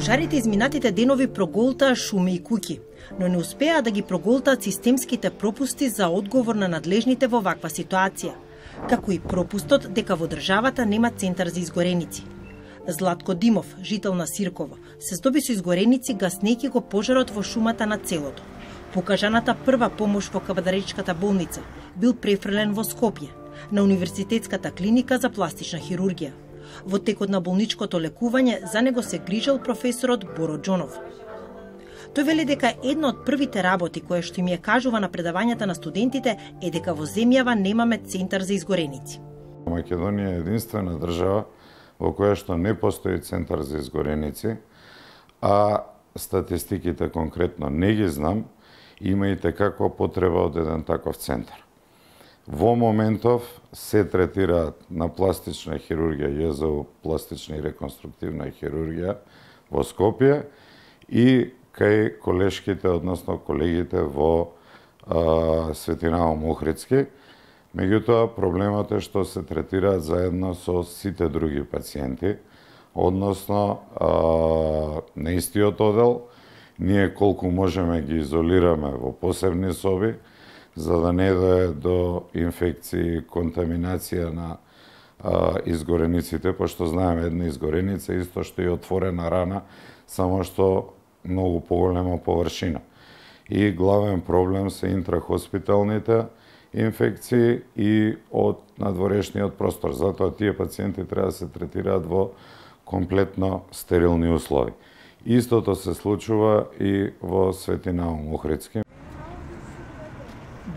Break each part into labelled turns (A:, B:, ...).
A: Пожарите изминатите денови проголтаа шуми и куќи, но не успеа да ги проголтаат системските пропусти за одговор на надлежните во ваква ситуација, како и пропустот дека во државата нема центар за изгореници. Златко Димов, жител на Сирково, се здоби со изгореници гаснејќи го пожарот во шумата на селото. Покажаната прва помош во Кабадаречката болница бил префрлен во Скопје, на Универзитетската клиника за пластична хирургија. Во текот на болничкото лекување за него се грижел професорот Боро Џонов. Тој вели дека една од првите работи која што им ја кажува на предавањата на студентите е дека во земјава немаме центар за изгореници.
B: Македонија е единствена држава во која што не постои центар за изгореници, а статистиките конкретно не ги знам, имајте како потреба од еден таков центар. Во моментов се третираат на пластична хирургија, ЈЗУ, пластична и реконструктивна хирургија во Скопје и кај колешките, односно колегите во Светинаум Охридски. Меѓутоа, проблемот е што се третираат заедно со сите други пациенти, односно на истиот одел. Ние колку можеме ги изолираме во посебни соби, за да не дое до инфекции, контаминација на изгорениците, пошто знаеме една изгореница исто што е отворена рана, само што многу поголема површина. И главен проблем се интрахоспиталните инфекции и од надворешниот простор. Затоа тие пациенти треба да се третираат во комплетно стерилни услови. Истото се случува и во Светинаум Охридски.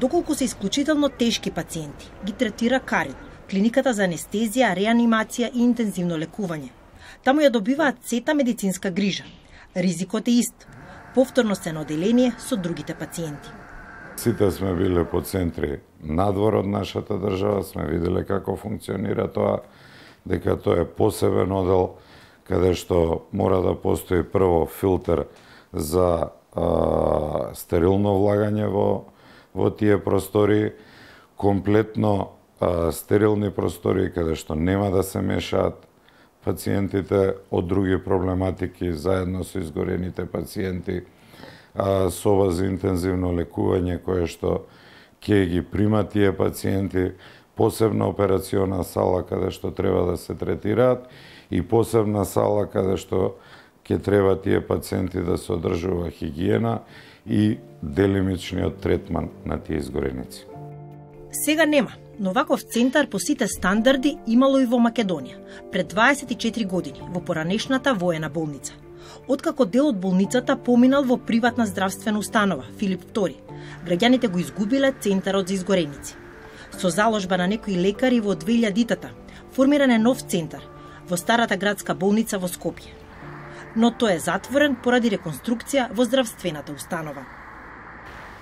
A: Доколку се исклучително тешки пациенти, ги третира Карин, клиниката за анестезија, реанимација и интензивно лекување. Таму ја добиваат сета медицинска грижа. Ризикот е ист. Повторно се на оделение со другите пациенти.
B: Сите сме биле по центри надвор од нашата држава, сме виделе како функционира тоа, дека тоа е посебен одел, каде што мора да постои прво филтер за стерилно влагање во тие простори, комплетно стерилни простори, каде што нема да се мешаат пациентите од други проблематики, заедно со изгорените пациенти, соба за интензивно лекување, кое што ќе ги прима тие пациенти, посебна операциона сала каде што треба да се третираат и посебна сала каде што ќе треба тие пациенти да се одржува хигиена и делимичниот третман на тие изгореници.
A: Сега нема, но ваков центар по сите стандарди имало и во Македонија, пред 24 години, во поранешната воена болница. Откако дел од болницата поминал во приватна здравствена установа, Филип II, граѓаните го изгубиле центарот за изгореници. Со заложба на некои лекари во 2000-тата, формиран е нов центар во старата градска болница во Скопје. Но тој е затворен поради реконструкција во здравствената установа.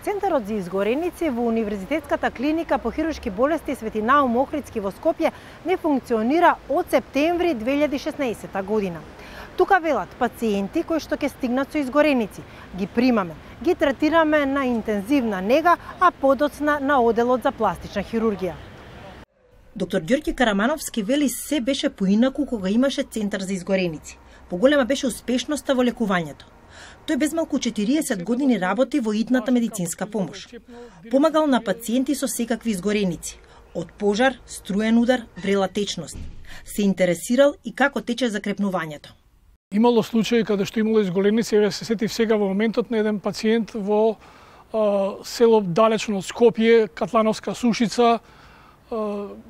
C: Центарот за изгореници во Универзитетската клиника по хируршки болести Светинаум Охридски во Скопје не функционира од септември 2016 година. Тука велат пациенти кои што ќе стигнат со изгореници. Ги примаме, ги третираме на интензивна нега, а подоцна на оделот за пластична хирургија.
A: Доктор Ѓорѓе Карамановски вели се беше поинаку кога имаше центар за изгореници. Поголема беше успешноста во лекувањето. Тој безмалку 40 години работи во итната медицинска помош. Помагал на пациенти со секакви изгореници, од пожар, струен удар, врела течност. Се интересирал и како тече закрепнувањето.
D: Имало случаи каде што имало изгореници, еве се сетив сега во моментот на еден пациент во село далечно од Скопје, Катлановска Сушица.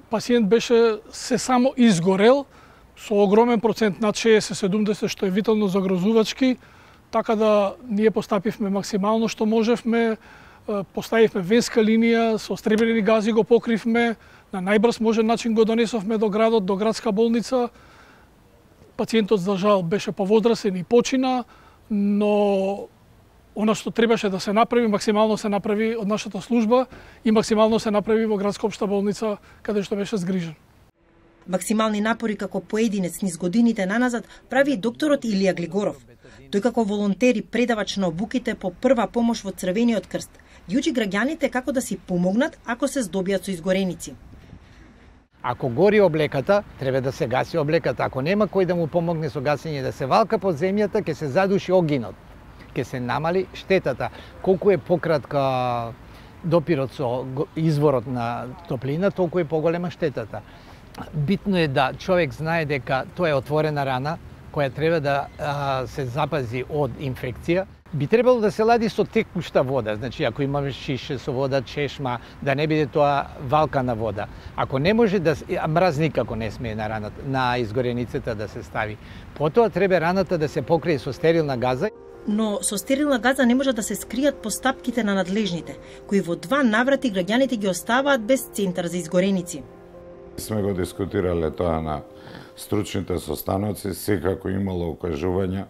D: Пациент беше се само изгорел со огромен процент над 60-70, што е витално загрозувачки, така да ние постапивме максимално што можевме, поставивме венска линија, со стребелени гази го покривме, на најбрз можен начин го донесовме до градот, до градска болница. Пациентот за жал беше повозрасен и почина, но она што требаше да се направи, максимално се направи од нашата служба и максимално се направи во градска општа болница, каде што беше згрижен.
A: Максимални напори како поединец низ годините наназад прави и докторот Илија Глигоров. Тој како волонтер и предавач на обуките по прва помош во Црвениот крст ги учи граѓаните како да си помогнат ако се здобијат со изгореници.
E: Ако гори облеката, треба да се гаси облеката. Ако нема кој да му помогне со гасење, да се валка под земјата, ќе се задуши огинот. Ќе се намали штетата. Колку е пократка допирот со изворот на топлина, толку е поголема штетата. Битно е да човек знае дека тоа е отворена рана која треба да се запази од инфекција. Би требало да се лади со текушта вода, значи ако имаме шише со вода, чешма, да не биде тоа валкана вода. Ако не може да мраз никако не смее на раната, на изгореницата да се стави. Потоа треба раната да се покрие со стерилна газа.
A: Но со стерилна газа не може да се скријат постапките на надлежните, кои во 2 наврати граѓаните ги оставаат без центар за изгореници.
B: Сме го дискутирале тоа на стручните состаноци, секако имало укажувања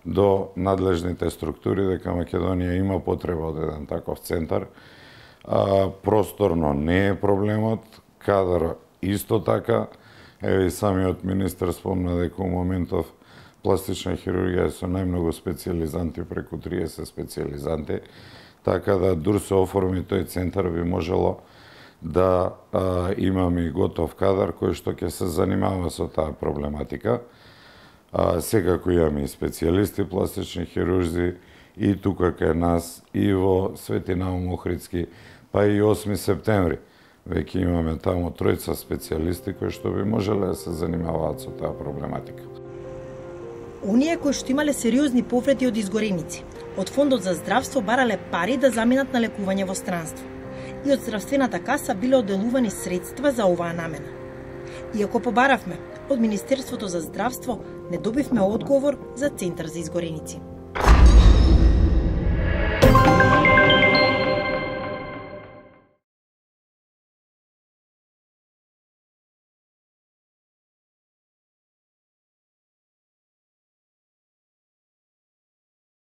B: до надлежните структури дека Македонија има потреба од еден таков центар. Просторно не е проблемот, кадар исто така. Еве самиот министер спомна дека во моментов пластична хирургија со најмногу специјализанти, преку 30 специјализанти, така да дур се оформи тој центар би можело да имаме и готов кадар кој што ќе се занимава со таа проблематика. Секако имаме и специјалисти, пластични хирурзи и тука кај нас, и во Свети Наум Охридски, па и 8 септември. Веќе имаме таму 3 специјалисти кои што би можеле да се занимаваат со таа проблематика.
A: Оние кои што имале сериозни повреди од изгореници, од Фондот за здравство барале пари да заменат на лекување во странство. И од здравствената каса биле одделувани средства за оваа намена. Иако побаравме од Министерството за здравство, не добивме одговор за центар за изгореници.